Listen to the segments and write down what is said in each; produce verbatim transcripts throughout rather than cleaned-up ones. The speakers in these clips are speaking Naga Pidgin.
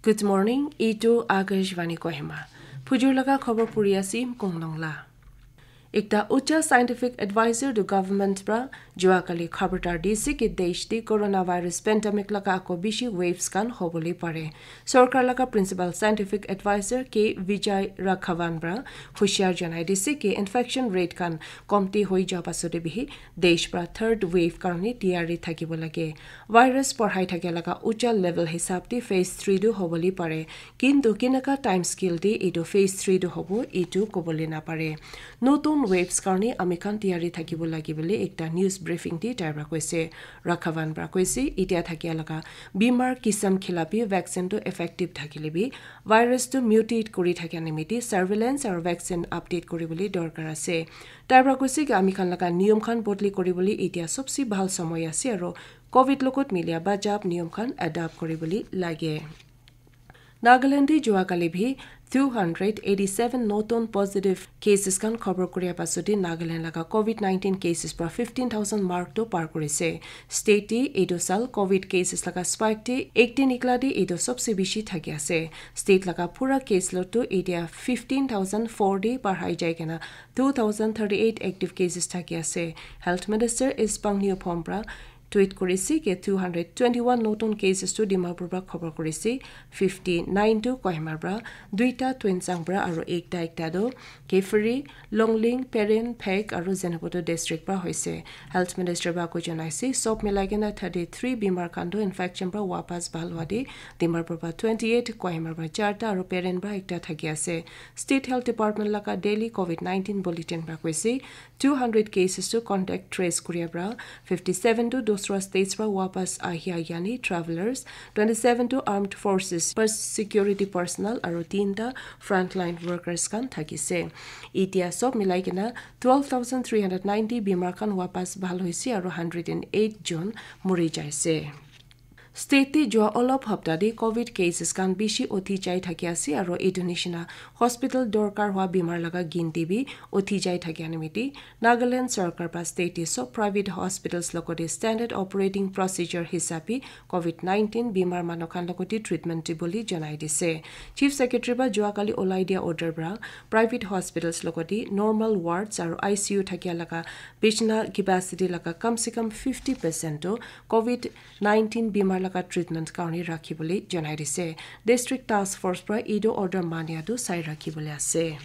Good morning, etu Akashvani Kohima. Phujur laga khobor puri ase Konglong la. Ekta ucha scientific advisor to government pra jua kali khabartar dise ki desh te coronavirus pandemic laga ako bishi waves khan hobole pare. Sorkar laga principal scientific advisor K Vijay Raghavan pra hushiar janai dise ki infection rate khan komti hoi ja pasode bihi desh pra third wave karone tiyari thakibo lage. Virus porhai thakia laga ucha level hisab te phase three tu hobole pare. Kintu kinaka time scale te etu phase three tu hobo, etu kobole napare. Notun waves karone ami khan tiyari thakibo lage bole ekta news briefing te tai pra koise. Raghavan pra koise, etia thakia laga bimar kisam khilapi vaccine tu effective thakile bi virus tu mutate kuri thakia nimite surveillance aru vaccine update kuri bole dorkar ase. Tai pra koise ki ami khan laga niyom khan bodli kuri bole etia sobse bhal samay ase aru covid logot milia bajab niyom khan adapt kuri bole lage. Nagaland te jua kali bhi two hundred eighty seven notun positive cases khan khobor kuria pasode Nagaland laga covid nineteen cases pra fifteen thousand mark to par kurise. State te etu sal covid cases laga spike te eighteen ikla te etu sobse bishi thaki ase. State laga pura case load to etia fifteen thousand four te parhai jai kena two thousand thirty eight active cases thaki ase. Health Minister S Pangniu Phom pra tweet kurise ke two hundred twenty one notun cases tu Dimapur pra khobor kurise, fifty nine tu Kohima pra, duita Tuensang pra aru ekta ekta tu Kiphire, Longleng, Peren, Phek aru Zunheboto district pra hoise. Health Minister pra ko janaise sob milai kena thirty three bimar khan tu infection pra wapas bhal hua de Dimapur pra twenty eight, Kohima pra charta aru Peren pra ekta thaki ase. State Health Department laga daily covid nineteen bulletin pra koise two hundred cases tu contact trace kuria pra, fifty seven tu dusra states pra wapas ahia yani travelers, twenty seven tu armed forces per security personnel aru tinta frontline workers khan thakise. Etia sob milai kena twelve thousand three hundred ninety bimar khan wapas bhal hoise aru hundred and eight jon mori jaise. State te jua olop hapta te covid cases khan bishi uthi jai thaki ase aru etu nishina hospital dorkar hua bimar laga ginti bi uthi jai thaki animiti Nagaland sorkar pra state te sob private hospitals logote standard operating procedure hisabi covid nineteen bimar manu khan logote treatment dibole janai dise. Chief Secretary pra jua kali olai dia order pra private hospitals logote normal wards aru I C U thakia laga bishna capacity laga kam se kam fifty percent to covid nineteen bimar laga treatment karone rakhi bole janai dise. District Task Force pra etu order mania tu sai rakhi bole ase.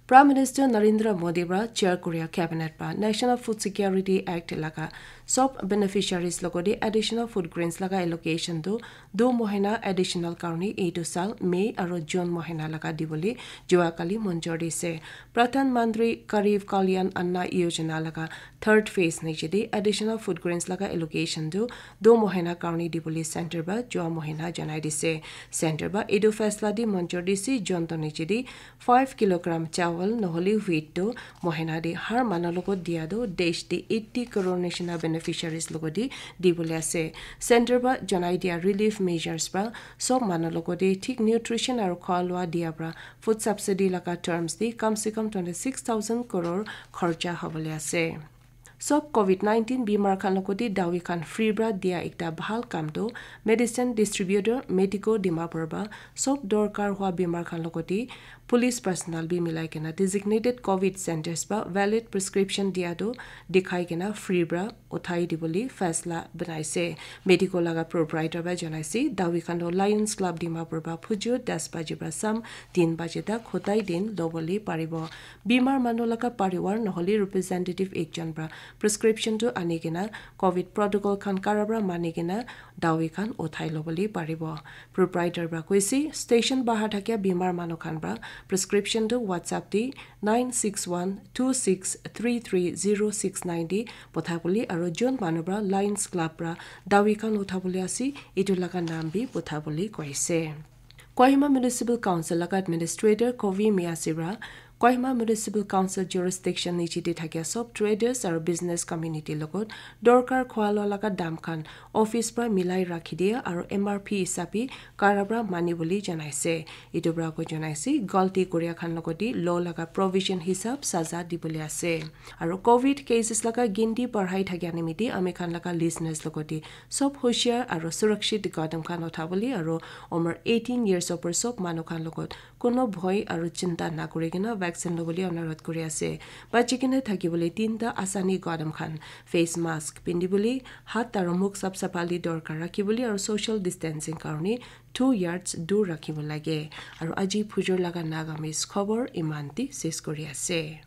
Prime Minister Narendra Modi pra chair kuria cabinet pra National Food Security Act laga sob beneficiaries logote additional food grains laga allocation tu du mohina additional karone etu sal May aru June mohina laga dibole jua kali monjor dise. Pradhan Mantri Garib Kalyan Anna Yojana laga third phase niche te additional food grains laga allocation tu du mohina karone dibole center pra jua mohina janai dise. Center pra etu faisla te monjor dise, jonto niche te five kilogram chawal nohole wheat tu mohina te har manu logot dia tu desh te eighty crore nishina beneficiaries logot te dibole ase. Center pra janai dia relief measures pra sob manu logot te thik nutrition aru khua lua dia pra food subsidy laga terms te kam se kam twenty six thousand crore kharcha hobole ase. Sob covid nineteen bimar khan logote dawi khan free pra dia ekta bhal kam tu medicine distributor Medico Dimapur pra sob dorkar hua bimar khan logote police personnel bi milai kena designated covid centers pra valid prescription dia tu dikhai kena free pra uthai dibole faisla banaise. Medico laga proprietor pra janaise dawi khan tu Lions Club Dimapur pra phujur das baji pra sam tin baji tak hotai din lobole paribo. Bimar manu laga pariwar nohole representative ekjon pra prescription tu ani kena covid protocol khan kara pra mani kena dawi khan uthai lobole paribo. Proprietor pra koise station bahar thakia bimar manu khan pra prescription tu WhatsApp te nine six one two six three three zero six nine te potha bole aru jon manu pra Lions Club pra dawi khan utha bole ase etu laga naam bi potha bole koise. Kohima Municipal Council laga administrator Kovi Miasi pra Kohima Municipal Council jurisdiction niche te thakia sob traders aru business community logot dorkar khwa loa laga dam khan office pra milai rakhi dia aru M R P hisabi kara pra mani bole janaise. Etu pra ko janaise galti koria khan logot te law laga provision hisab saza dibole ase. Aru covid cases laga ginti barhai thakia nimite ami khan laga listeners logot te sob hoshiar aru surakshit kadam khan uthabole aru umar eighteen years upor sob manu khan logot kono bhoi aru chinta na kuri kena vaccine lobole anurodh kuri ase. Bachi kena thakibole tinta asani kadam khan, face mask pindibole, hat aru mukh sap sapali dorkar rakhibole aru social distancing karone two yards dur rakhibo lage. Aru aji phujor laga Nagamese khobor iman te ses kuri ase.